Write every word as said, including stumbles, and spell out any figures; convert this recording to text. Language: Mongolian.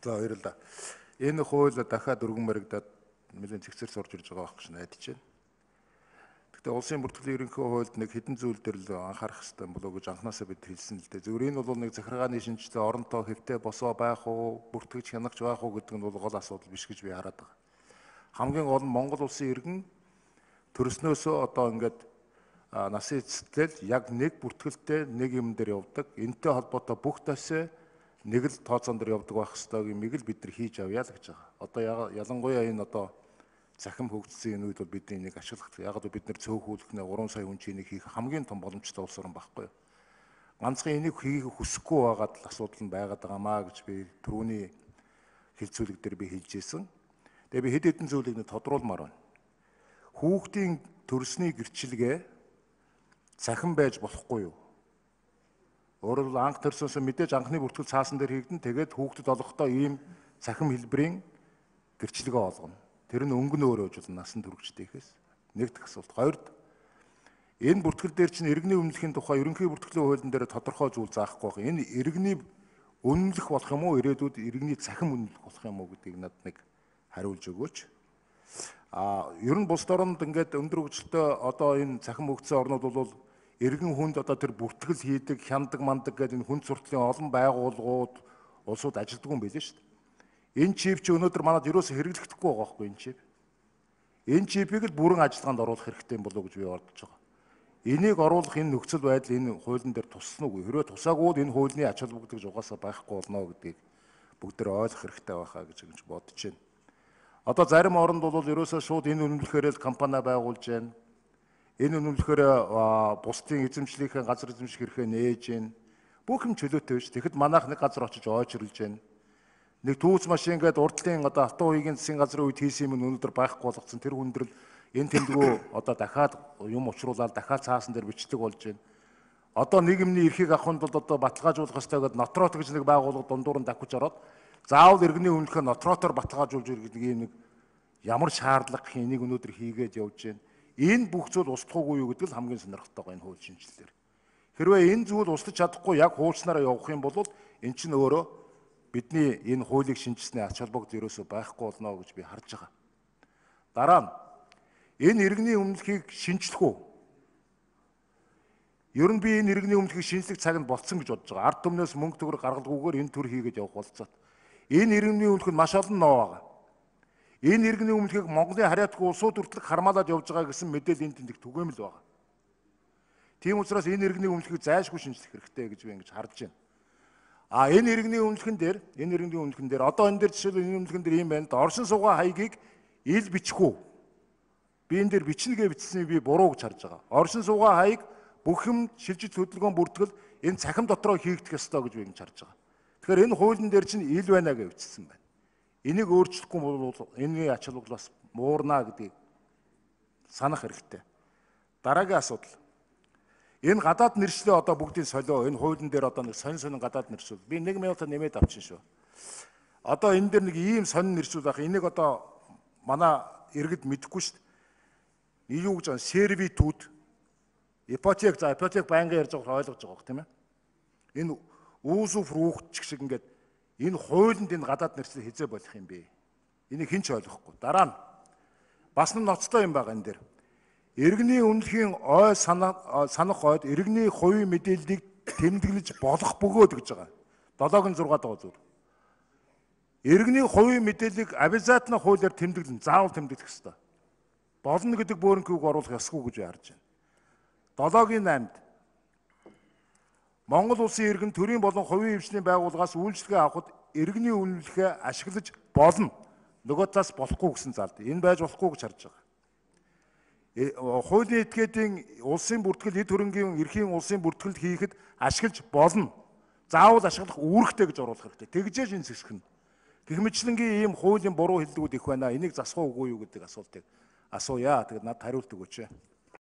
За баярлалаа. Энэ хууль дахиад өргөн баригдаад нэлээд зэгцэр сурж ирж байгаа байх гэж найдаж байна. Гэхдээ улсын бүртгэлийн ерөнхий хуульд нэг хэдэн зүйл дээр л анхаарах хэрэгтэй болов гэж анханасаа бид хэлсэн л дээ. Зөвхөн энэ бол нэг захиргааны шинжилгээ оронтой хэвтэй босоо байх уу, бүртгэж хянагч байх уу гэдэг нь бол гол асуудал биш гэж би хараад байгаа. Хамгийн гол нь Монгол улсын иргэн төрснөөсөө одоо ингээд насын эцэслэл яг нэг бүртгэлтэй нэг юм дээр явдаг. Энтэй холбоотой бүх тасаа нэг л тооцоон дээр явдаг байх ёстой гэмиг л бид нар хийж авъя л гэж байгаа. Одоо ялангуяа энэ одоо захим хөгжсөн энэ үед бол бидний нэг ашиглах. Яг л бид нар цөөхүүлэх нэ гурван сая хүн чинийг хийх хамгийн том боломжтой улс орн байхгүй юу? Ганцхан энийг хийх хүсэхгүй байгаад л асуудал нь байгаад байгаамаа гэж би түрүүний хэлцүүлэг дээр би хэлж ирсэн. Тэгээ би хэд хэдэн зүйлийг нь тодруулмаар байна. Хүүхдийн төрсний гэрчилгээ захин байж болохгүй юу? Өөрөөр хэлбэл анх төрсөөс мэдээж анхны бүртгэл цаасан дээр хийгдэн тэгээд хүүхдэд олохдоо ийм захим хэлбэрийн гэрчилгээ олгоно. Тэр нь өнгө нь өөрөө жил насан туршидтэйхээс нэгдэх асуулт. Хоёрд энэ бүртгэл дээр чинь иргэний үнэлэхийн тухай ерөнхий бүртгэлийн хуулийн дээр тодорхой зүйл заахгүй байна. Энэ иргэний үнэлэх болох юм уу? Ирээдүйд иргэний захим үнэлэх болох юм уу гэдгийг надад нэг хариулж өгөөч. А ер нь бусад орнд ингээд өндөр хөгжилтэй одоо энэ захим хөгжсөн орнууд бол иргэн хүнд одоо тэр бүртгэл хийдэг, хяндаг, мандаг гэдэг энэ хүнд суртлын олон байгууллагууд улсууд ажилддаг юм билээ шүү дээ. Энэ чип чи өнөөдөр манад ерөөсө хэрэглэгдэхгүй байгаа байхгүй энэ чип. Энэ чипийг л бүрэн ажиллагаанд оруулах хэрэгтэй юм болов уу гэж би бодож байгаа. Энийг оруулах энэ нөхцөл байдал энэ хуулийн дээр туссан уу? Хэрвээ тусаагүй бол энэ хуулийн ач холбогдол гэж угаасаа байхгүй болно гэдгийг бүгдээр ойлгох хэрэгтэй байхаа гэж ингэж бодож байна. Одоо зарим оронд бол ерөөсөө шууд энэ үнэмлэхээр л компани байгуулж байна. Энэ үнэмлэхээр бусдын эзэмшлийнхээ газар эзэмших хэрэгээ нээж байна. Бүх юм чөлөөтэй биш. Тэгэхэд манайх нэг газар очиж ойчрлж байна. Нэг түүц машин гээд урдлын одоо автоо уугийн засгийн газрын үед хийсэн юм өнөөдөр байхгүй болгоцсон. Тэр хүндрэл энэ тэмдгүү одоо дахиад юм учруулаад дахиад цаасан дээр бичлэг болж байна. Одоо нийгэмний эрхийг авахын тулд одоо баталгаажуулах ёстой гэдэг нотрот гэж нэг байгууллага дундуур нь давхиж ороод заавал иргэний үнэлэхээр нотротоор баталгаажуулж ирэх гэдэг нэг ямар шаардлага гэх энийг өнөөдөр хийгээд явж байна. Энэ бүх зүйл устдахгүй юу гэдэг л хамгийн сонирхолтой байгаа энэ хууль шинжилэлээр. Хэрвээ энэ зүйл устдаж чадахгүй яг хуульчнаараа явах юм бол эн чинь өөрөө бидний энэ хуулийг шинжилсэний ач холбогдол ерөөсөө байхгүй болно гэж би харж байгаа. Дараа нь энэ иргэний үнэлэхийг шинжлэх үү? Ер нь би энэ иргэний үнэлэхийг шинжлэх цаг нь болцсон гэж бодож байгаа. Ард түмнээс мөнгө төгрөг гаргалгүйгээр энэ төр хийгээд явах болцоод. Энэ иргэний үнэлэх нь маш олон ноо байгаа. Энэ иргэний үнэлэхийг Монголын хариатгүй улсууд хүртэл хармаалаад явж байгаа гэсэн мэдээлэл энд тэндэг түгээмэл байгаа. Тийм учраас энэ иргэний үнэлэхийг зайлшгүй шинжлэх хэрэгтэй гэж би ингэж харж байна. А энэ иргэний үнэлэхэн дээр энэ иргэний үнэлэхэн дээр одоо энэ дээр жишээлбэл энэ үнэлэхэн дээр юм байна да. Оршин суугаа хаягийг ил бичихүү. Би энэ дээр бичнэгээ бичсэн би буруу гэж харж байгаа. Оршин суугаа хаяг бүх юм шилжиж хөдөлгөөн бүртгэл энэ цахим дотроо хийгдэх ёстой гэж би ингэж харж байгаа. Тэгэхээр энэ хуулийн дээр чинь ил байна гэж бичсэн байна. Энийг өөрчлөхгүй бол энэ ач холбогдол бас муурна гэдгийг санах хэрэгтэй. Дараагийн асуудал. Энэ гадаад нэршлээ одоо бүгдийн солио энэ хуулийн дээр одоо нэг сонин сонин гадаад нэршүүл. Би нэг минутаа нэмээд авчин шүү. Одоо энэ дээр нэг ийм сонин нэршүүл байх. Энийг одоо манай иргэд мэдэхгүй шүү дээ. Юу гэж байгаа сервитут ипотек за ипотек байнгын ярьж байгаа ойлгож байгаа тийм ээ. Энэ үүсв рүүхч шиг ингээд энэ хуулинд энэ гадаад нэршлээ хизээ болох юм бэ? Энийг хэн ч ойлгохгүй. Дараа нь бас нэг ноцтой юм байгаа энэ дээр. Иргэний үнэлэхийн ой санах ойд иргэний хувийн мэдээллийг тэмдэглэж болох бөгөөд гэж байгаа. долоогийн зургаад байгаа зүйл. Иргэний хувийн мэдээллийг обязательно хуулиар тэмдэглэн заавал тэмдэглэх ёстой. Болно гэдэг бөөрөнхийг оруулах ёсгүй гэж харж байна. долоогийн наймд Монгол улсын иргэн төрийн болон хувийн хвшлийн байгууллагаас үйлчлэгээ авахд иргэний үнэлэхээ ашиглаж болно. Нөгөө талаас болохгүй гэсэн залд. Энэ байж болохгүй гэж харж байгаа. Хуулийн этгээдийн улсын бүртгэл эд хөрөнгийн эрхийн улсын бүртгэл хийхэд ашиглаж болно. Заавал ашиглах үүрэгтэй гэж оруулах хэрэгтэй. Тэгжээж энэ зэсгэн. Гэх мэтлэнгийн ийм хуулийн буруу хэллэгүүд их байна. Энийг засах уугүй юу гэдэг асуултыг асууя. Тэгэд надад хариулт өгөөч.